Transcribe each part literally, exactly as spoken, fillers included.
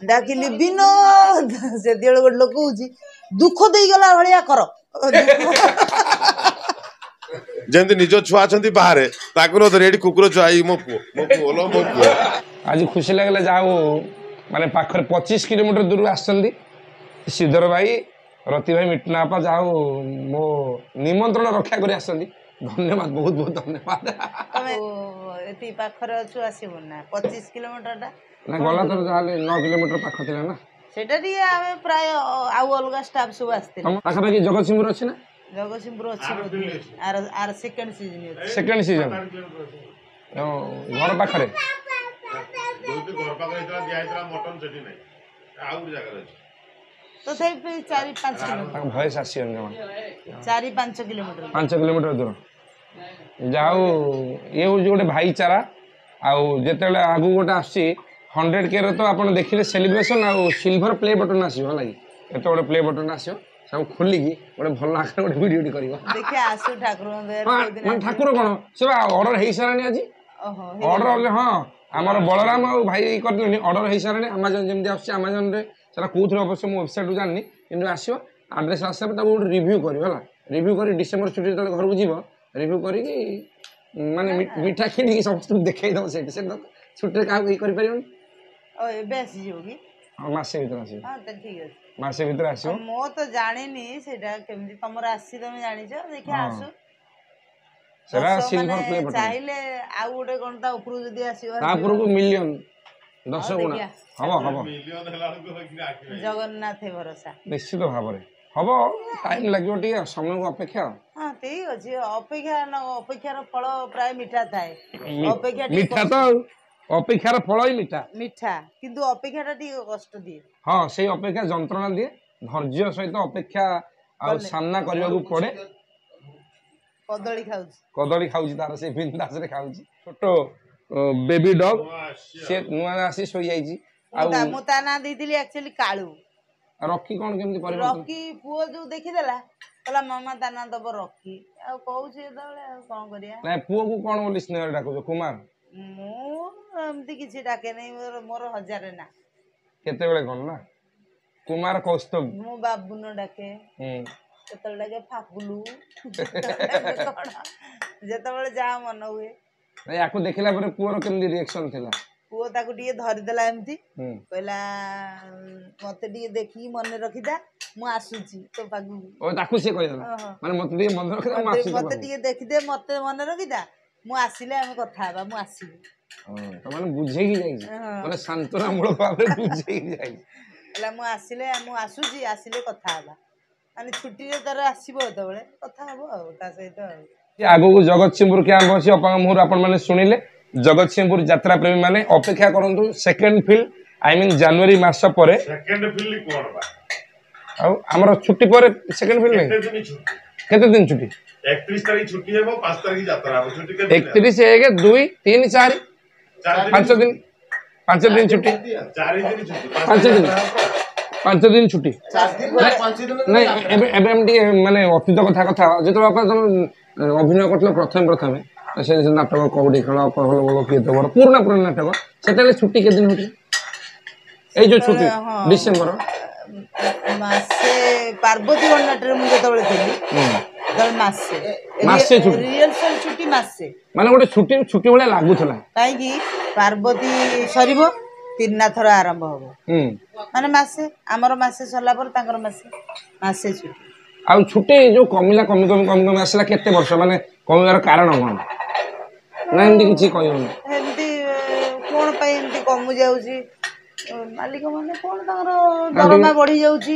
ଡାକିଲି ବିନୋଦ, ସେତିକିବେଳେ ଗୋଟେ ଲୋକ କହୁଛି ଦୁଃଖ ଦେଇଗଲା ଭଳିଆ କର। ଯେମିତି ନିଜ ଛୁଆ ଅଛନ୍ତି ବାହାରେ, ତାକୁ ନ ଧରି ଏଠି କୁକୁର ଛୁଆ, ଏଇ ମୋ ପୁଅ, ମୋ ପୁଅ ଲୋ, ମୋ ପୁଅ। ଆଜି ଖୁସି ଲାଗିଲା, ଯାହା ହଉ ମାନେ ପାଖରେ ପଚିଶ କିଲୋମିଟର ଦୂରରୁ ଆସିଛନ୍ତି ଶ୍ରୀଧର ଭାଇ, ରତି ଭାଇ, ମିଟନା ଆପା, ଯାହା ହଉ ମୋ ନିମନ୍ତ୍ରଣ ରକ୍ଷା କରି ଆସିଛନ୍ତି। ଧନ୍ୟବାଦ, ବହୁତ ବହୁତ ଧନ୍ୟବାଦ। ତମେ ଏତିକି ପାଖରେ ଅଛୁ, ଆସିବୁ ନା? ପଚିଶ କିଲୋମିଟରଟା ନା, ଗଲା ଥର ଯାହାହେଲେ ନଅ କିଲୋମିଟର ପାଖ ଥିଲା ନା। ସେଇଟା ଟିକେ ଆମେ ପ୍ରାୟ ଆଉ ଅଲଗା ଷ୍ଟାଫ୍ ସବୁ ଆସିଥିଲେ। ତମ ପାଖାପାଖି ଜଗତସିଂହପୁର ଅଛି ନା? ଜଗତସିଂହପୁର ଅଛି ବୋଧେ, ଆର ଆର ସେକେଣ୍ଡ ସିଜନ ଅଛି। ସେକେଣ୍ଡ ସିଜନ ଘର ପାଖରେ ଯୋଉଠି ଘର ପାଖରେ ହେଇଥିଲା, ଦିଆ ହେଇଥିଲା ମଟନ, ସେଠି ନାହିଁ, ଆଉ ଗୋଟେ ଜାଗାରେ ଅଛି। ତଥାପି ଚାରି ପାଞ୍ଚ କିଲୋମିଟର। ତାଙ୍କ ଭଏସ ଆସିବନି ଜମା। ଚାରି ପାଞ୍ଚ କିଲୋମିଟର, ପାଞ୍ଚ କିଲୋମିଟର ଦୂର। ଯାହା ହଉ, ଇଏ ହେଉଛି ଗୋଟେ ଭାଇଚାରା। ଆଉ ଯେତେବେଳେ ଆଗକୁ ଗୋଟେ ଆସୁଛି ହଣ୍ଡ୍ରେଡ଼ କେର, ତ ଆପଣ ଦେଖିଲେ ସେଲିବ୍ରେସନ୍ ଆଉ ସିଲଭର ପ୍ଲେ ବଟନ୍ ଆସିବ, ହେଲା କି? ଏତେ ଗୋଟେ ପ୍ଲେ ବଟନ୍ ଆସିବ, ସବୁ ଖୋଲିକି ଗୋଟେ ଭଲ ଆକାରରେ ଗୋଟେ ଭିଡ଼ିଓଟି କରିବ। ଦେଖିଆ, ଆସୁ ଠାକୁରଙ୍କ ଦୟାରୁ ହଁ, କୋଉଦିନ ମାନେ ଆସିବ। ଠାକୁର କ'ଣ, ସେ ବା ଅର୍ଡ଼ର ହେଇସାରିଲାଣି ଆଜି। ଓହୋ, ଅର୍ଡ଼ର, ହଁ, ଆମର ବଳରାମ ଆଉ ଭାଇ କରିଦେଲେଣି, ଅର୍ଡ଼ର ହେଇସାରିଲାଣି। ଆମାଜନ ଯେମିତି ଆସୁଛି, ଆମାଜନରେ ସେଟା କେଉଁଥିରେ ଅବଶ୍ୟ ମୁଁ ୱେବସାଇଟ୍ରୁ ଜାଣିନି, କିନ୍ତୁ ଆସିବ। ଆଡ୍ରେସ୍ ଆସିଲା ପରେ ତାକୁ ଗୋଟେ ରିଭ୍ୟୁ କରିବ, ହେଲା? ରିଭ୍ୟୁ କରି ଡିସେମ୍ବର ଛୁଟି ଯେତେବେଳେ ଘରକୁ ଯିବ, ରିଭ୍ୟୁ କରିକି ମାନେ ମି- ମିଠା କିଣିକି ସମସ୍ତଙ୍କୁ ଦେଖେଇ ଦେବ ସେଇଠି। ସେଠି ତ ଛୁଟିରେ କାହାକୁ ଇଏ କରିପାରିବନି। ଓ, ଏବେ ଆସିଯିବ କି? ହଁ, ମାସେ ଭିତରେ ଆସିବ। ହଁ, ତ ଠିକ ଅଛି। ମାସେ ଭିତରେ ଆସିବ। ମୁଁ ତ ଜାଣିନି ସେଇଟା କେମିତି ତମର ଆସିଛି, ତମେ ଜାଣିଛ। ଦେଖିଆ, ହଁ। ଆସୁ। ସେଟା ଦଶ ସିଲଭର ମାନେ ପ୍ଲେ ବଟନ୍। ଚାହିଁଲେ ଆଉ ଗୋଟେ କଣ ତା ଉପରକୁ ଯଦି ଆସିବ, ତା ଆସିବ। ଉପରକୁ ମିଲିୟନ, ଦଶ ହଉ, ଗୁଣା ଦେଖିଆ। ହବ, ହବ। ମିଲିୟନ ହେଲା ବେଳକୁ ହେଇକିନା ଆଖି ନାହିଁ। ଜଗନ୍ନାଥ ଭରସା। ନିଶ୍ଚିତ ଭାବରେ ହବ, ଟାଇମ୍ ଲାଗିବ ଟିକେ, ସମୟକୁ ଅପେକ୍ଷା ଆଉ। ହଁ, ଠିକ ଅଛି। ଅପେକ୍ଷା ନ ଅପେକ୍ଷାର ଫଳ ପ୍ରାୟ ମିଠା ଥାଏ। ମି- ଅପେକ୍ଷା ଟିକେ ମିଠା ତ, ଆଉ ଅପେକ୍ଷାର ଫଳ ହିଁ ମିଠା। ମିଠା, କିନ୍ତୁ ଅପେକ୍ଷାଟା ଟିକେ କଷ୍ଟ ଦିଏ। ହଁ, ସେଇ ଅପେକ୍ଷା ଯନ୍ତ୍ରଣା ଦିଏ। ଧୈର୍ଯ୍ୟ ସହିତ ଅପେକ୍ଷା ଆଉ କଲେ। ସାମ୍ନା କରିବାକୁ ପଡେ। କଦଳୀ ଖାଉଛି। କଦଳୀ ଖାଉଛି ତାର, ସେ ବିନ୍ଦାସରେ ଖାଉଛି। ଛୋଟ ବେବି ଡଗ୍ ନୂଆ ଆସିଛି। ସେ ନୂଆ ଆସି ଶୋଇଯାଇଛି। ମୁଁ ଆଉ ତା- ମୁଁ ତା ନାଁ ଦେଇଥିଲି ଆକ୍ଚୁଆଲି କାଳୁ। ରକି କ'ଣ କେମିତି ପରିବର୍ତ୍ତନ? ରକି, ପୁଅ ଯୋଉ ଦେଖିଦେଲା, କହିଲା ମାମା ତା ନାଁ ଦବ ରକି। ଆଉ କହୁଛି ଯେତେବେଳେ, ଆଉ କଣ କରିବା? ନାଇଁ, ପୁଅକୁ କ'ଣ ବୋଲି ସ୍ନେହରେ ଡାକୁଛ, କୁମାର? ମୁଁ ଏମିତି କିଛି ଡାକେ ନାହିଁ, ମୋର ମୋର ହଜାରେ ନା। କେତେବେଳେ କ'ଣ ନା, କୁମାର, କୌସ୍ତବ। ମୁଁ ବାବୁନ ଡାକେ, ହୁଁ କେତେବେଳେ ଡାକେ ଫାପୁଲୁ, କେତେବେଳେ କଣ, ଯେତେବେଳେ ଯାହା ମନ ହୁଏ। ନାଇଁ, ୟାକୁ ଦେଖିଲା ପରେ ପୁଅର କେମିତି ରିଆକ୍ସନ ଥିଲା? ପୁଅ ତାକୁ ଟିକେ ଧରିଦେଲା ଏମିତି, ହୁଁ କହିଲା ମତେ ଟିକେ ଦେଖିକି ମନେ ରଖିଥା, ମୁଁ ଆସୁଛି ତୋ ପାଖକୁ। ଓ, ତାକୁ ସିଏ କହିଦେଲା? ଓହୋ। ମାନେ ମତେ ଟିକେ ମନେ ରଖିଥା, ମୁଁ ମତେ ଆସୁଛି ତୋ ମତେ ପାଖକୁ। ଟିକେ ଦେଖିଦେ, ମତେ ମନେ ରଖିଥା, ମୁଁ ଆସିଲେ ଆମେ କଥା ହେବା, ମୁଁ ଆସିବି। ହଁ, ତ ମାନେ ବୁଝେଇକି ଯାଇଛି। ହଁ। ମାନେ ସାନ୍ତ୍ୱନାମୂଳକ ଭାବରେ ବୁଝେଇକି ଯାଇଛି। କହିଲା ମୁଁ ଆସିଲେ, ମୁଁ ଆସୁଛି, ଆସିଲେ କଥା ହେବା। ମାନେ ଛୁଟିରେ ତାର ଆସିବ ଯେତେବେଳେ, କଥା ହବ ଆଉ ତା ସହିତ ଆଉ। ଆଗକୁ ଜଗତସିଂହପୁର କ୍ୟାମ୍ପ ଅଛି, ଅପାଙ୍କ ମୁହଁରୁ ଆପଣମାନେ ଶୁଣିଲେ। ଜଗତସିଂହପୁର ଯାତ୍ରା ପ୍ରେମୀ ମାନେ ଅପେକ୍ଷା କରନ୍ତୁ, ସେକେଣ୍ଡ ଫିଲ୍ଡ, I mean ଜାନୁଆରୀ ମାସ ପରେ। ସେକେଣ୍ଡ ଫିଲ୍ଡ କଣ ବା? ଆଉ ଆମର ଛୁଟି ପରେ ସେକେଣ୍ଡ ଫିଲ୍ଡ ନାହିଁ? କେତେ ଦିନ ଛୁଟି? କେତେ ଦିନ ଛୁଟି? ଏକତିରିଶ ତାରିଖ ଛୁଟି ହେବ, ପାଞ୍ଚ ତାରିଖ ଯାତ୍ରା ହବ। ଛୁଟି କେତେ ଦିନ? ଏକତିରିଶ, ଏକ, ଦୁଇ, ତିନି, ଚାରି, ଚାରି ଦିନ। ପାଞ୍ଚ ଦିନ, ପାଞ୍ଚ ଦିନ ଛୁଟି। ଚାରି ଦିନ ଛୁଟି। ପାଞ୍ଚ ଦିନ, ପାଞ୍ଚ ଦିନ ଛୁଟି। ନାଇଁ, ଏବେ ଏବେ ଆମେ ଟିକେ ମାନେ ଅତୀତ କଥା କଥା ହବା। ଯେତେବେଳେ ବାପା ତମେ ଅଭିନୟ କରୁଥିଲ ପ୍ରଥମେ ପ୍ରଥମେ, ସେ ସେ ନାଟକ କଉଡ଼ି ଖେଳ, କହଲ ବଳ କିଏ ତ ବଡ଼, ପୁରୁଣା ପୁରୁଣା ନାଟକ, ସେତେବେଳେ ଛୁଟି କେତେ ଦିନ ହଉଥିଲା? ଏଇ ଯୋଉ ଛୁଟି ସେତେବେଳେ, ହଁ। ଡିସେମ୍ବର ମାସେ। ପାର୍ବତୀ ଗଣନାଟ୍ୟରେ ମୁଁ ଯେତେବେଳେ ଥିଲି ହୁଁ ସେତେବେଳେ ମାସେ। ମାସେ ଛୁଟି। ରିହର୍ସାଲ ଛୁଟି ମାସେ। ମାନେ ଗୋଟେ ଛୁଟି ଛୁଟି ଭଳିଆ ଲାଗୁଥିଲା। କାହିଁକି, ପାର୍ବତୀ ସରିବ, ତିନିନାଥର ଆରମ୍ଭ ହବ। ହୁଁ ମାନେ ମାସେ, ଆମର ମାସେ ସରିଲା ପରେ ତାଙ୍କର ମାସେ, ମାସେ ଛୁଟି। ଆଉ ଛୁଟି ଯୋଉ କମିଲା, କମି କମି କମି କମି ଆସିଲା, କେତେ ବର୍ଷ ମାନେ କମିବାର କାରଣ କଣ, ନା ଏମିତି କିଛି କହିହବନି? ଏମିତି କଣ ପାଇଁ ଏମିତି କମି ଯାଉଛି? ମାଲିକ ମାନେ କଣ ତାଙ୍କର ଦରମା ବଢି ଯାଉଛି,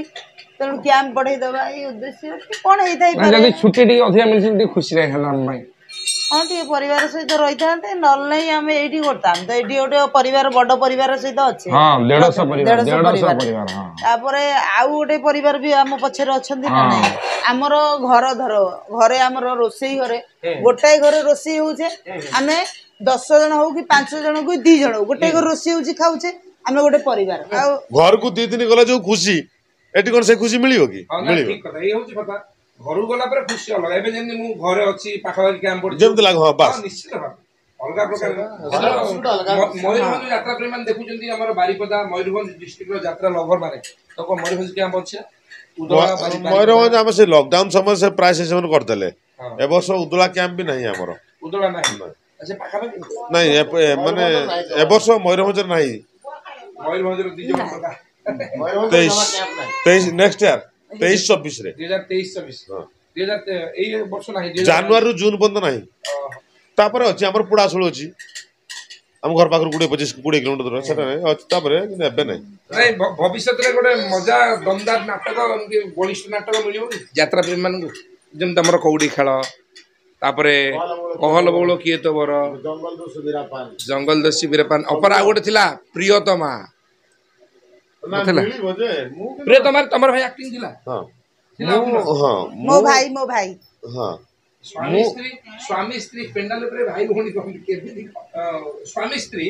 ତେଣୁ କ୍ୟାମ୍ପ ବଢେଇ ଦବା, ଏଇ ଉଦ୍ଦେଶ୍ୟ କି କଣ ନା ହେଇଥାଇପାରେ। ଯଦି ଛୁଟି ଟିକେ ଅଧିକା ମିଳିଛି, ଟିକେ ଖୁସି ହେଲା ଆମ ପାଇଁ। ହଁ, ଟିକେ ପରିବାର ସହିତ ରହିଥାନ୍ତେ, ନହେଲେ ନାହିଁ ଆମେ ଏଇଠି କରିଥାନ୍ତେ ତ, ଏଇଠି ଗୋଟେ ପରିବାର, ବଡ ପରିବାର ସହିତ ଅଛି। ହଁ, ଦେଢଶହ ପରିବାର। ଦେଢଶହ ଦେଢଶହ ପରିବାର। ପରିବାର, ହଁ। ତାପରେ ଆଉ ଗୋଟେ ପରିବାର ବି ଆମ ପଛରେ ଅଛନ୍ତି ନା? ହଁ। ନାଇଁ, ଆମର ଘର ଧର ଘରେ, ଆମର ରୋଷେଇ ଘରେ, ଗୋଟାଏ ଘରେ ରୋଷେଇ ହଉଛେ ଆମେ ଦଶ ଜଣ ହଉ କି ପାଞ୍ଚ ଜଣ କି ଦି ଜଣ ହଉ, ଗୋଟାଏ ଘରେ ରୋଷେଇ ହଉଛି, ଖାଉଛେ, ଆମେ ଗୋଟେ ପରିବାର ଆଉ। ଘରକୁ ଦି ଦିନ ଗଲେ ଯୋଉ ଖୁସି, ଏଠି କଣ ସେ ଖୁସି ମିଳିବ କି? ହଁ, ନା, ମିଳିବ? ଠିକ କଥା, ଏଇ ହଉଛି କଥା। ଘରକୁ ଗଲା ପରେ ଖୁସି ଅଲଗା। ଏବେ ଯେମିତି ମୁଁ ଘରେ ଅଛି, ପାଖାପାଖି କ୍ୟାମ୍ପ ପଡିଛି, ଯେମିତି ଲାଗେ, ହଁ, ବାସ୍। ହଁ, ନିଶ୍ଚିତ ଭାବେ। ଅଲଗା ପ୍ରକାର ଅଲଗା। ମୟୂରଭଞ୍ଜ ଯାତ୍ରା ପ୍ରେମୀ ମାନେ ଦେଖୁଛନ୍ତି ଆମର ବାରିପଦା ମୟୂରଭଞ୍ଜ ଡିଷ୍ଟ୍ରିକ୍ଟର ଯାତ୍ରା ଲଭର ମାନେ ତ କଣ ମୟୂରଭଞ୍ଜ କ୍ୟାମ୍ପ ଅଛି ଉଦଳା ବାରି- ମୟୂରଭଞ୍ଜ ଆମେ ସେ ଲକଡାଉନ ସମୟରେ ସେ ପ୍ରାୟ ସେ ସେମାନେ କରିଦେଲେ ହଁ। ଏ ବର୍ଷ ଉଦଳା କ୍ୟାମ୍ପ ବି ନାହିଁ ଆମର ଉଦଳା ନାହିଁ ଆଚ୍ଛା ପାଖାପାଖି ନାଇଁ ଏ- ଏ ମାନେ ଏ ବର୍ଷ ମୟୂରଭଞ୍ଜରେ ନାହିଁ ମୟୂରଭଞ୍ଜର ଦି ଜଣ ଟଙ୍କା ମୟୂରଭଞ୍ଜ ତେଇଶ ଜମା କ୍ୟାମ୍ପ ନାହିଁ ତେଇଶ ନେକ୍ସଟ ଇୟର ତେଇଶ ଚବିଶରେ ଦୁଇ ହଜାର ତେଇଶ ଚବିଶ ହଁ। ଦୁଇ ହଜାର ତେ- ଏଇ ବର୍ଷ ନାହିଁ ଦୁଇ ହଜାର- ଜାନୁଆରୀରୁ ଜୁନ ପର୍ଯ୍ୟନ୍ତ ନାହିଁ ଓହୋ। ତାପରେ ଅଛି ଆମର ପୋଡ଼ାଶୋଳ ଅଛି ଆମ ଘର ପାଖରୁ କୋଡ଼ିଏ ପଚିଶ କୋଡ଼ିଏ କିଲୋମିଟର ଦୂର ସେଟା ନାହିଁ ଅଛି ତାପରେ କିନ୍ତୁ ଏବେ ନାହିଁ ନାଇଁ ଭ- ଭବିଷ୍ୟତରେ ଗୋଟେ ମଜା ଦମଦାର ନାଟକ ଏମିତି ବଳିଷ୍ଠ ନାଟକ ମିଳିବ କି ଯାତ୍ରା ପ୍ରେମୀ ମାନଙ୍କୁ ଯେମିତି ଆମର କଉଡ଼ି ଖେଳ ତାପରେ କହଲ ବଉଳ କିଏ ତ ବର ଜଙ୍ଗଲ ଦସ୍ୟୁ ବୀରାପାନ ଜଙ୍ଗଲ ଦସ୍ୟୁ ବୀରପାନ ଅପରା ଆଉ ଗୋଟେ ଥିଲା ପ୍ରିୟତମା ନଥିଲା? ମିଳିବ ଯେ ମୁଁ କିନ୍ତୁ- ପ୍ରିୟତମାରେ ତମର ଭାଇ ଆକ୍ଟିଂ ଥିଲା ହଁ ଥିଲା ମୁଁ ଅଭିନୟ? ହଁ ମୋ ମୁଁ ଭାଇ ମୋ ଭାଇ ହଁ ସ୍ୱାମୀ ସ୍ତ୍ରୀ ସ୍ୱାମୀ ସ୍ତ୍ରୀ ପେଣ୍ଡାଲ ଉପରେ ଭାଇ ଭଉଣୀ କହନ୍ତି କେମିତି ଅ, ସ୍ୱାମୀ ସ୍ତ୍ରୀ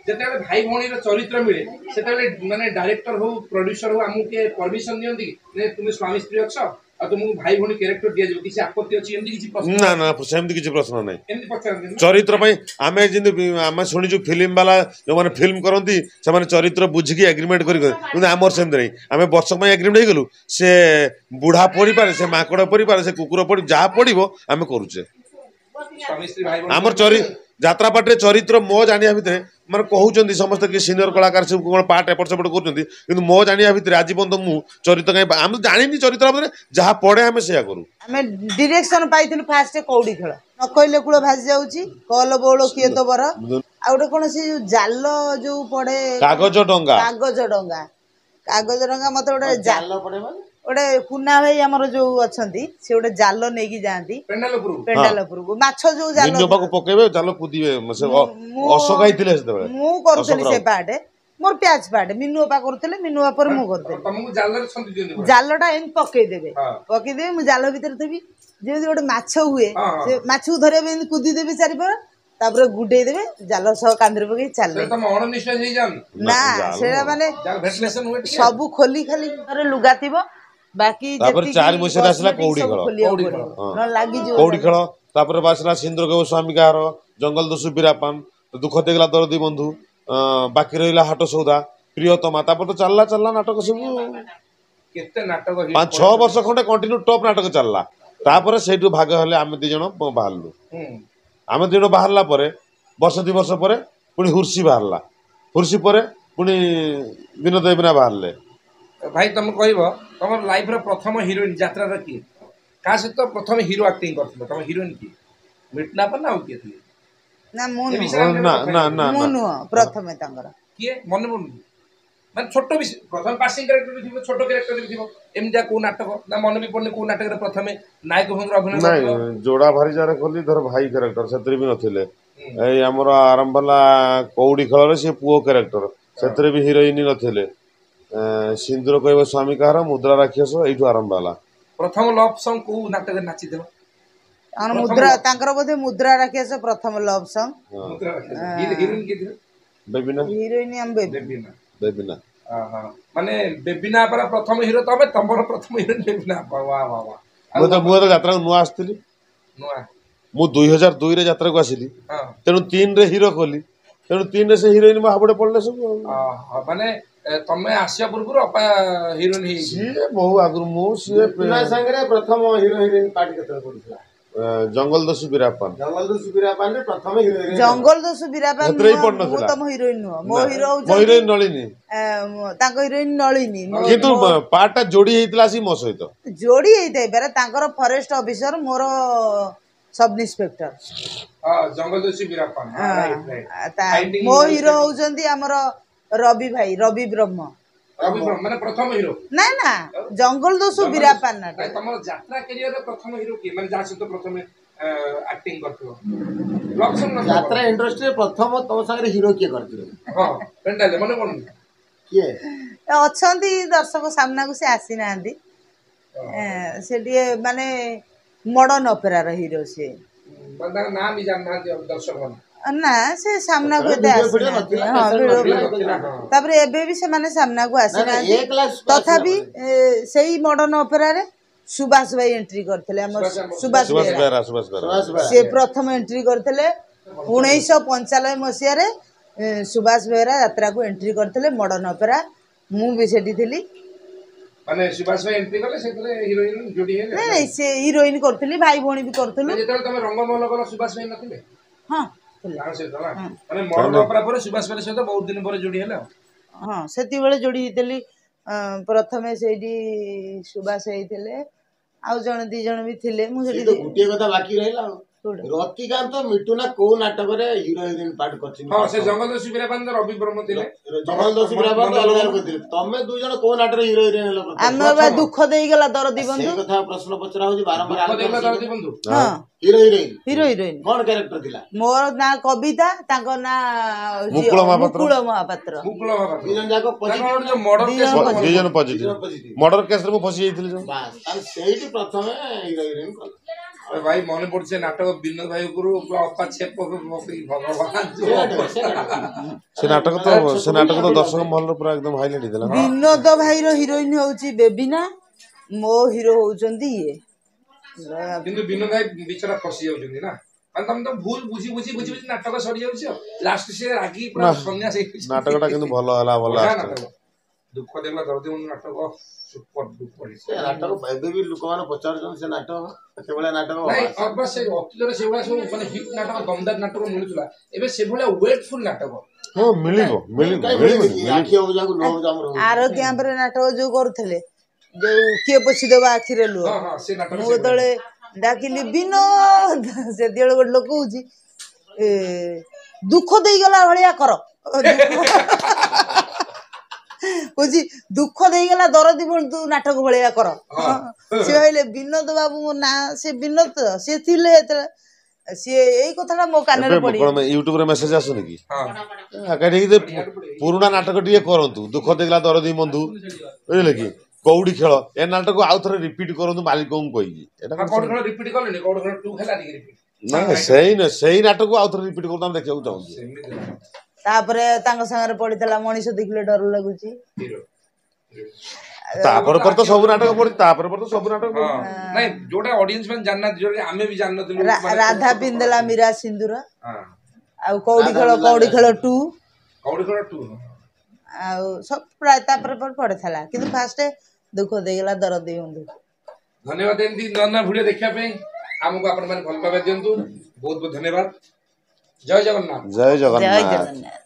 ଯେତେବେଳେ ଭାଇ ଭଉଣୀର ଚରିତ୍ର ମିଳେ ସେତେବେଳେ ମାନେ ଡାଇରେକ୍ଟର ହଉ ପ୍ରଡ୍ୟୁସର ହଉ ଆମକୁ କିଏ ପରମିଶନ ଦିଅନ୍ତି କି ନାଇଁ ତୁମେ ସ୍ୱାମୀ ସ୍ତ୍ରୀ ଅଛ ଆଉ ତୁମକୁ ଭାଇ ଭଉଣୀ କ୍ୟାରେକ୍ଟର ଦିଆଯିବ କିଛି ଆପତ୍ତି ଅଛି ଏମିତି କିଛି ପ୍ରଶ୍ନ ନା ନା ସେମିତି କିଛି ପ୍ରଶ୍ନ ନାହିଁ ଏମିତି ପଚାରନ୍ତି ନା? ଚରିତ୍ର ପାଇଁ ଆମେ ଯେମିତି ବି- ଆମେ ଶୁଣିଛୁ ଫିଲ୍ମ ବାଲା ଯୋଉମାନେ ଫିଲ୍ମ କରନ୍ତି ସେମାନେ ଚରିତ୍ର ବୁଝିକି ଏଗ୍ରିମେଣ୍ଟ କରି କରନ୍ତି। କିନ୍ତୁ ଆମର ସେମିତି ନାହିଁ ଆମେ ବର୍ଷକ ପାଇଁ ଏଗ୍ରିମେଣ୍ଟ ହେଇଗଲୁ ସେ ବୁଢା ପଡ଼ିପାରେ ସେ ମାଙ୍କଡ଼ ପଡ଼ିପାରେ ସେ କୁକୁର ପଡ଼ି ଯାହା ପଡ଼ିବ ଆମେ କରୁଛେ ସ୍ୱାମୀ ସ୍ତ୍ରୀ ଭାଇ ଭଉଣୀ ଆମର ଚରି ଯାତ୍ରା ପାର୍ଟିରେ ଚରିତ୍ର ମୋ ଜାଣିବା ଭିତରେ ମାନେ କହୁଛନ୍ତି ସମସ୍ତେ କି ସିନିୟର କଳାକାର ସବୁ କ'ଣ ପାର୍ଟ ଏପଟ ସେପଟ କରୁଛନ୍ତି କିନ୍ତୁ ମୋ ଜାଣିବା ଭିତରେ ଆଜି ପର୍ଯ୍ୟନ୍ତ ମୁଁ ଚରିତ୍ର କାହିଁ ଆମେ ତ ଜାଣିନି ଚରିତ୍ର ଭିତରେ ଯାହା ପଡ଼େ ଆମେ ସେଇଆ କରୁ ଆମେ ଡିରେକ୍ସନ ପାଇଥିଲୁ ଫାଷ୍ଟ କଉଡି ଖେଳ ନ କହିଲେ କୂଳ ଭାସି ଯାଉଛି କଲ ବଉଳ କିଏ ତ ବର ଆଉ ଗୋଟେ କଣ ସେ ଯୋଉ ଜାଲ ଯୋଉ ପଡେ କାଗଜ ଡଙ୍ଗା କାଗଜ ଡଙ୍ଗା କାଗଜ ଡଙ୍ଗା ମତେ ଗୋଟେ ଜା- ଜାଲ ପଡେ ମାନେ ଗୋଟେ କୁନା ଭାଇ ଆମର ଯୋଉ ଅଛନ୍ତି ସେ ଗୋଟେ ଜାଲ ନେଇକି ଯାଆନ୍ତି ପେଣ୍ଡାଲ ଉପରକୁ ପେଣ୍ଡାଲ ଉପରକୁ ମାଛ ଯୋଉ ଜାଲ ମିନୁ ପାଖକୁ ପକେଇବେ ଜାଲ କୁଦିବେ ସେ ଅ- ମୁଁ- ଅଶୋକ ହେଇଥିଲେ ସେତେବେଳେ ମୁଁ କରୁଥିଲି ଅଶୋକ ସେ ରାଉତ। ପାର୍ଟ ମୋର ପ୍ୟାଚ ପାର୍ଟ ମିନୁ ଅପା କରୁଥିଲେ ମିନୁ ଅପା ପରେ ମୁଁ କରୁଥିଲି ତମକୁ ଜାଲରେ ଛନ୍ଦି ଦିଅନ୍ତି ପୁରା। ଜାଲଟା ଏମିତି ପକେଇଦେବେ ହଁ। ପକେଇଦେବେ ମୁଁ ଜାଲ ଭିତରେ ଥିବି ଯେମିତି ଗୋଟେ ମାଛ ହୁଏ ହଁ, ହଁ। ସେ ମାଛକୁ ଧରିବା ପାଇଁ ଏମିତି କୁଦି ଦେବେ ଚାରିପାର ତାପରେ ଗୁଡେଇ ଦେବେ ଜାଲ ସହ କାନ୍ଧରେ ପକେଇ ଚାଲେ ସେଟା ତମ ଅଣନିଶ୍ୱାସ ହେଇଯାଅନି ନା ଜାଲ ସେଟା ମାନେ ଜାଲ ଭେଣ୍ଟିଲେସନ ହୁଏ ଟିକେ ସବୁ ଖୋଲି ଖାଲି ଘରେ ଲୁଗା ଥିବ ବାକି ତାପରେ ଯେତିକି ଚାରି ମସିହାରେ ଆସିଲା cosmetic କଉଡ଼ି ସବୁ ଖେଳ। ଖୋଲିବାକୁ କଉଡ଼ି ପଡିବ। ଖେଳ। ହଁ। ନହେଲେ ଲାଗିଯିବ କଉଡ଼ି ଖେଳ ତାପରେ ଆସିଲା ସିନ୍ଦୁର କେବ ସ୍ୱାମୀ କାହାର ଜଙ୍ଗଲ ଦସ୍ୟୁ ବୀରାପାନ ଦୁଃଖ ଦେଇଗଲା ଦରଦୀ ବନ୍ଧୁ ଅଁ, ବାକି ରହିଲା ହାଟ ସଉଦା ପ୍ରିୟତମା ତାପରେ ତ ଚାଲିଲା ଚାଲିଲା ନାଟକ ସବୁ କେତେ ନାଟକ hit ପାଞ୍ଚ ଛଅ ବର୍ଷ ଖଣ୍ଡେ କଣ୍ଟିନ୍ୟୁ ଟପ୍ ନାଟକ ଚାଲିଲା ତାପରେ ସେଇଠୁ ଭାଗ ହେଲେ ଆମେ ଦି ଜଣ ବାହାରିଲୁ ହୁଁ। ଆମେ ଦି ଜଣ ବାହାରିଲା ପରେ ବର୍ଷ ଦି ବର୍ଷ ପରେ ପୁଣି ହୁର୍ସି ବାହାରିଲା ହୁର୍ସି ପରେ ପୁଣି ବିନୋଦ ଦେବନା ବାହାରିଲେ ଭାଇ ତମେ କହିବ ତମର ଲାଇଫର ପ୍ରଥମ ହିରୋଇନ ଯାତ୍ରାର କିଏ କାହା ସହିତ ପ୍ରଥମେ ହିରୋ ଆକ୍ଟିଂ କରିଥିଲ ତମ ହିରୋଇନ କିଏ ମିଟନା ନା ଆଉ କିଏ ଥିଲେ ନା ମୁଁ ଏ ନୁହଁ ବିଷୟରେ ଆମେ ନା କଥା ନା ହେଇନି। ନା ମୁଁ ନା ନୁହଁ ପ୍ରଥମେ ତାଙ୍କର କିଏ ମନେ ପଡୁନି ମାନେ ଛୋଟ ବି ପ୍ରଥମେ ପାସିଂ କ୍ୟାରେକ୍ଟର ବି ଥିବ ଛୋଟ କ୍ୟାରେକ୍ଟର ବି ଥିବ ଏମିତିଆ କୋଉ ନାଟକ ନା ମନେ ବି ପଡୁନି କୋଉ ନାଟକରେ ପ୍ରଥମେ ନାୟକ ଭୂମିକା ଅଭିନୟ ନାଇଁ କରିଥିଲ ଯୋଡ଼ା ଭାରି ଯାରେ ଖୋଲି ଧର ଭାଇ କ୍ୟାରେକ୍ଟର ସେଥିରେ ବି ନଥିଲେ ହୁଁ। ଏଇ ଆମର ଆରମ୍ଭ ହେଲା କଉଡ଼ି ଖେଳରେ ସେ ପୁଅ କ୍ୟାରେକ୍ଟର ସେଥିରେ ବି ହିରୋଇନ ନଥିଲେ ଏଁ, ସିନ୍ଦୁର କହିବ ସ୍ୱାମୀ କାହାର ମୁଦ୍ରା ରାକ୍ଷସ ଏଇଠୁ ଆରମ୍ଭ ହେଲା ପ୍ରଥମ ଲଭ୍ ସଙ୍ଗ କୋଉ ନାଟକରେ ନାଚିଥିଲ ତାଙ୍କର ପ୍ରଥମ ମୁଦ୍ରା love- ତାଙ୍କର ବୋଧେ ମୁଦ୍ରା ରାକ୍ଷସ ପ୍ରଥମ ଲଭ୍ ସଙ୍ଗ ହଁ ମୁଦ୍ରା ରାକ୍ଷସ। ହିରୋଇନ କିଏ ଥିଲେ ବେବିନା ହିରୋଇନ ଆମ ବେବି ବେବିନା ବେବିନା ଅହଁ। ମାନେ ବେବିନା ଅପାର ପ୍ରଥମ ହିରୋ ତମେ ତମର ପ୍ରଥମ ହିରୋଇନ ବେବିନା ଅପା ବା ବା ବା ମୁଁ ତ ମୁଁ ଯେତେବେଳେ ଯାତ୍ରାକୁ ନୂଆ ଆସିଥିଲି ନୂଆ ମୁଁ ଦୁଇ ହଜାର ଦୁଇରେ ଯାତ୍ରାକୁ ଆସିଲି ହଁ ତେଣୁ ତିନିରେ ହିରୋ କଲି ତେଣୁ ତିନିରେ ସେ ହିରୋଇନ ମୋ ହାବୁଡ଼େ ପଡ଼ିଲେ ସବୁ ଆଉ। ଅହଁ, ମାନେ ଏ, ତମେ ଆସିବା ପୂର୍ବରୁ ଅପା ହିରୋଇନ ହେଇଯାଇଛି ସିଏ ବହୁ ଆଗରୁ ମୁଁ ସିଏ ମିଟୁନା ସାଙ୍ଗରେ ପ୍ରଥମ ହିରୋ ହିରୋଇନ ପାର୍ଟ କେତେବେଳେ ପଡିଥିଲା ଜଙ୍ଗଲ ଦସ୍ୟୁ ବୀରାପାନ ଜଙ୍ଗଲ ଦସ୍ୟୁ ବୀରାପାନରେ ପ୍ରଥମ ହିରୋ ହିରୋଇନ ଜଙ୍ଗଲ ଦସ୍ୟୁ ବୀରାପାନ ସେଥିରେ ବି ନୁହଁ, ମୁଁ ପଡିନଥିଲା। ତମ ହିରୋଇନ ନୁହଁ ମୋ ହିରୋ ମୋ ହଉଛନ୍ତି ହିରୋଇନ ନଳିନୀ ଏ, ମୋ- ତାଙ୍କ ହିରୋଇନ ନଳିନୀ ମୋ- କିନ୍ତୁ ମୋ- ପାର୍ଟଟା ଯୋଡି ହେଇଥିଲା ଆସିକି ମୋ ସହିତ ଯୋଡି ହେଇଥାଇପାରେ ତାଙ୍କର ଫରେଷ୍ଟ ଅଫିସର ମୋର ସବ ଇନ୍ସପେକ୍ଟର ହଁ ଜଙ୍ଗଲ ଦସ୍ୟୁ ବୀରାପାନ ରାଇଟ୍ ରାଇଟ୍ ତା- ମୋ ହିରୋ ହଉଛନ୍ତି ଆମର ରବି ଭାଇ ରବି ବ୍ରହ୍ମ ରବି ବ୍ରହ୍ମ ମାନେ ପ୍ରଥମ ହିରୋ ନା ନା ଜଙ୍ଗଲ ଦସ୍ୟୁ ବୀରାପାନ ନାଟକ ନାଇଁ ତମର ଯାତ୍ରା କ୍ୟାରିୟରରେ ପ୍ରଥମ ହିରୋ କିଏ ମାନେ ଯାହା ସହିତ ପ୍ରଥମେ ଆକ୍ଟିଂ କରିଥିବ ଲଭ୍ ସଙ୍ଗ ନଥିବ ଯାତ୍ରା ଇଣ୍ଡଷ୍ଟ୍ରିରେ ପ୍ରଥମ ତମ ସାଙ୍ଗରେ ହିରୋ କିଏ କରିଥିଲେ ହଁ ପେଣ୍ଡାଲ ମନେ ପଡୁନି କିଏ ଅଛନ୍ତି ଦର୍ଶକ ସାମ୍ନାକୁ ସେ ଆସିନାହାନ୍ତି ଏ, ସେ ଟିକେ ମାନେ ମଡର୍ନ ଅପେରାର ହିରୋ ସିଏ ମାନେ ତାଙ୍କ ନାଁ ବି ଜାଣିନାହାନ୍ତି ଦର୍ଶକ ମାନେ ନା ସେ ସାମ୍ନାକୁ ଏତେ ଭିଡିଓ ଫିଡିଓ ଆସିନାହାନ୍ତି ନଥିଲା, ହଁ କ୍ୟାସେଟ ଭିଡିଓ ନଥିଲା, ନଥିଲା, ହଁ। ତାପରେ ଏବେ ବି ସେମାନେ ସାମ୍ନାକୁ ନା ନା ଆସିନାହାନ୍ତି ଏ କ୍ଲାସ ତଥାପି ଏ, ସେଇ ମଡର୍ନ ଅପେରାରେ ସୁଭାଷ ଭାଇ ଏଣ୍ଟ୍ରି କରିଥିଲେ ଆମ ସୁଭାଷ ଆମ- ସୁଭାଷ ସୁଭାଷ ବେହେରା ବେହେରା ସୁଭାଷ ବେହେରା ସୁଭାଷ ବେହେରା। ସେ ପ୍ରଥମ ଏଣ୍ଟ୍ରି କରିଥିଲେ ଉଣେଇଶହ ପଞ୍ଚାନବେ ମସିହାରେ ଏ, ସୁଭାଷ ବେହେରା ଯାତ୍ରାକୁ ଏଣ୍ଟ୍ରି କରିଥିଲେ ମଡର୍ଣ୍ଣ ଅପେରା। ମୁଁ ବି ସେଠି ଥିଲି। ମାନେ ସୁଭାଷ ଭାଇ ଏଣ୍ଟ୍ରି କଲେ, ସେଥିରେ ହିରୋ ହିରୋଇନ ଯୋଡି ହେଲେ? ନାଇଁ ନାଇଁ, ସେ ହିରୋଇନ କରୁଥିଲି, ଭାଇ ଭଉଣୀ ବି କରୁଥିଲୁ। ଯେତେବେଳେ ତମେ ରଙ୍ଗମହଲ କଲ, ସୁଭାଷ ଭାଇ ନଥିଲେ? ହଁ, ଥିଲେ। ତାଙ୍କ ସହିତ ନା, ମାନେ ମଡର୍ଣ୍ଣ ଅପେରା ପରେ ସୁଭାଷ ଭାଇ ସହିତ ବହୁତ ଦିନ ପରେ ଯୋଡି ହେଲେ ଆଉ। ହଁ, ସେତିକିବେଳେ ଯୋଡ଼ି ହେଇଥିଲି। ଅଁ, ପ୍ରଥମେ ସେଇଠି ସୁଭାଷ ହେଇଥିଲେ, ଆଉ ଜଣେ ଦି ଜଣ ବି ଥିଲେ। ମୁଁ ସେଇ ସେଠି ତ ଗୋଟିଏ କଥା ବାକି ରହିଲା ଆଉ। କୋଉଟା? ରତିକାନ୍ତ ମିଟୁନା କୋଉ ନାଟକରେ ହିରୋ ହିରୋଇନ ପାର୍ଟ କରିଛନ୍ତି? ହଁ, ସେ ଜଙ୍ଗଲ ଶିବିରା ପାଖରେ ରବି ବ୍ରହ୍ମ ଥିଲେ। ଜଙ୍ଗଲ ଦସ୍ୟୁ ବୀରାପାଣି ତ ଅଲଗା ଲୋକ ଥିଲେ। ତମେ ଦୁଇ ଜଣ କୋଉ ନାଟକରେ ହିରୋ ହିରୋଇନ ହେଲ ପ୍ରଥମେ? ଆମେ ବା ଦୁଃଖ ଦେଇଗଲା ଦରଦୀ ସେଇ ବନ୍ଧୁ। କଥା ପ୍ରଶ୍ନ ପଚରା ହଉଛି ବାରମ୍ବାର। ଦୁଃଖ ଦେଇଗଲା ଦରଦୀ ବନ୍ଧୁ। ହଁ। Hero heroine? Hero heroine. କଣ କ୍ୟାରେକ୍ଟର ଥିଲା? ମୋର ନାଁ କବିତା, ତାଙ୍କ ନାଁ ହଉଛି ମୁକୁଳ ମହାପାତ୍ର। ମୁକୁଳ ମହାପାତ୍ର। ମୁକୁଳ ମହାପାତ୍ର। ଦି ଜଣ ଯାକ ତାଙ୍କର ପଜିଟିଭ? ଗୋଟେ ଯୋଉ ମର୍ଡର ଦି କେସ୍। ଜଣ ଦି ଜଣ ପଜିଟିଭ। ଦି ଜଣ ପଜିଟିଭ। ମର୍ଡର କେସରେ ମୁଁ ଫସି ଯାଇଥିଲି ଯୋଉ। ବାସ୍, ତାହେଲେ ସେଇଠି ପ୍ରଥମେ ହିରୋ ହିରୋଇନ କଲ। ଆରେ ଭାଇ, ମନେ ପଡୁଛି ସେ ନାଟକ, ବିନୋଦ ଭାଇ ଉପରୁ ପୁରା ଅପା ଛେପ ପକେଇ, ଭଗବାନ ସେ ନାଟକ, ସେ ନାଟକ। ସେ ନାଟକ ତ ସେ ନାଟକ ତ ଦର୍ଶକ ମହଲରେ ପୁରା ଏକଦମ ହାଇଲାଇଟ୍ ହେଇଥିଲା। ବିନୋଦ ଭାଇର ହିରୋଇନ ହଉଛି ବେବିନା, ମୋ ହିରୋ ହଉଛନ୍ତି ଇଏ। କିନ୍ତୁ ବିନୋଦ ଭାଇ ବିଚରା ଫସି ଯାଉଛନ୍ତି ନା, ମାନେ ତମେ ତ ଭୁଲ ବୁଝି ବୁଝି ବୁଝି ବୁଝି ନାଟକ ସରିଯାଉଛି, ଆଉ ଲାଷ୍ଟ ସେ ରାଗି ପୁରା ସନ୍ନ୍ୟାସ ହେଇଯାଉଛି। ନାଟକଟା କିନ୍ତୁ ଭଲ ହେଲା, ଭଲ ବଢିଆ ଆସିଥିଲା। ନାଟକ, ଦୁଃଖ ଦେଲା ଦରଦୀ ବନ୍ଧୁ ନାଟକ ସୁପର ଡୁପର। ସେ ନାଟକ ଏବେ ବି ଲୋକମାନେ ପଚାରୁଛନ୍ତି, ସେ ନାଟକ ସେଭଳିଆ ନାଟକ। ନାଇଁ, ଅବା ସେ ଅତୀତରେ ସେଭଳିଆ ସବୁ ମାନେ ହିଟ୍ ନାଟକ, ଦମଦାର ନାଟକ ମିଳୁଥିଲା, ଏବେ ସେଭଳିଆ ୱେଟଫୁଲ ନାଟକ ହଁ, ମିଳିବ ମିଳିବ। କାଇଁ ମିଳିବନି? ମିଳିବନି? ଆଖି ହବ ଯାହାକୁ, ଲୁହ ହବ ଆମର ହଉଛି। ଆର କ୍ୟାମ୍ପରେ ନାଟକ ଯୋଉ କରୁଥିଲେ, ଯୋଉ କିଏ ପୋଛିଦେବ ଆଖିରେ ଲୁହ। ହଁ ହଁ, ସେ ନାଟକ। ମୁଁ ଯେତେବେଳେ ଡାକିଲି ବିନୋଦ, ସେତିକିବେଳେ ଗୋଟେ ଲୋକ କହୁଛି, ଏ ଦୁଃଖ ଦେଇଗଲା ଭଳିଆ କର। କହୁଛି ଦୁଃଖ ଦେଇଗଲା ଦରଦୀ ବନ୍ଧୁ ନାଟକ ଭଳିଆ କର। ସେ ଭାବିଲେ ବିନୋଦ ବାବୁଙ୍କ ନାଁ, ସେ ବିନୋଦ ତ ସିଏ ଥିଲେ ଯେତେବେଳେ, ସିଏ ଏଇ କଥାଟା ମୋ କାନରେ ଏବେ ପଡି କଣ ୟୁଟ୍ୟୁବରେ ମେସେଜ ଆସୁନି କି? ହଁ। କାହିଁକି ଯେ ପୁରୁଣା ନାଟକ ଟିକେ କରନ୍ତୁ, ଦୁଃଖ ଦେଇଗଲା ଦରଦୀ ବନ୍ଧୁ, ବୁଝିଲେ କି, କଉଡି ଖେଳ, ଏ ନାଟକ ଆଉ ଥରେ ରିପିଟ୍ କରନ୍ତୁ ମାଲିକଙ୍କୁ କହିକି। ଏଟା କଣ? କଉଡି ଖେଳ ରିପିଟ୍ କଲେଣି, କଉଡି ଖେଳ ଟୁ ହେଲାନି କି ରିପିଟ୍? ନା, ସେଇ ନୁହେଁ, ସେଇ ନାଟକକୁ ଆଉ ଥରେ ରିପିଟ୍ କରନ୍ତୁ, ଆମେ ଦେଖିବାକୁ ଚାହୁଁଛୁ। ସେମିତି। ତାପରେ ତାଙ୍କ ସାଙ୍ଗରେ ପଡିଥିଲା ମଣିଷ ଦେଖିଲେ ଡର ଲାଗୁଛି। ହିରୋ। ତାପରେ ପରେ ତ ସବୁ ନାଟକ ପଡିଛି, ତାପରେ ପରେ ତ ସବୁ ନାଟକ ହଁ ପଡିଛି। ନାଇଁ, ଯୋଉଟା ଅଡିଏନ୍ସ ମାନେ ଜାଣିନାହାନ୍ତି, ଯୋଉଟା ଆମେ ବି ଜାଣିନଥିଲୁ। ରା- ମାନେ ରାଧା ପିନ୍ଧଲା ମୀରା ସିନ୍ଦୁର। ହଁ। ଆଉ କଉଡି ଖେଳ, କଉଡି ଖେଳ ଟୁ। କଉଡି ଖେଳ ଟୁ। ଆଉ ସବୁ ପ୍ରାୟ ତାପରେ ପରେ ପଡିଥିଲା, କିନ୍ତୁ ଫାଷ୍ଟ ଦୁଃଖ ଦେଇଗଲା ଦରଦୀ ବନ୍ଧୁ। ଧନ୍ୟବାଦ। ଏମିତି ନୂଆ ନୂଆ ଭିଡ଼ିଓ ଦେଖିବା ପାଇଁ ଆମକୁ ଆପଣମାନେ ଭଲ ପାଇବା ଦିଅନ୍ତୁ। ବହୁତ ବହୁତ ଧନ୍ୟବାଦ। ଜୟ ଜଗନ୍ନାଥ। ଜୟ ଜୟ ଜଗନ୍ନାଥ। ଜଗନ୍ନାଥ।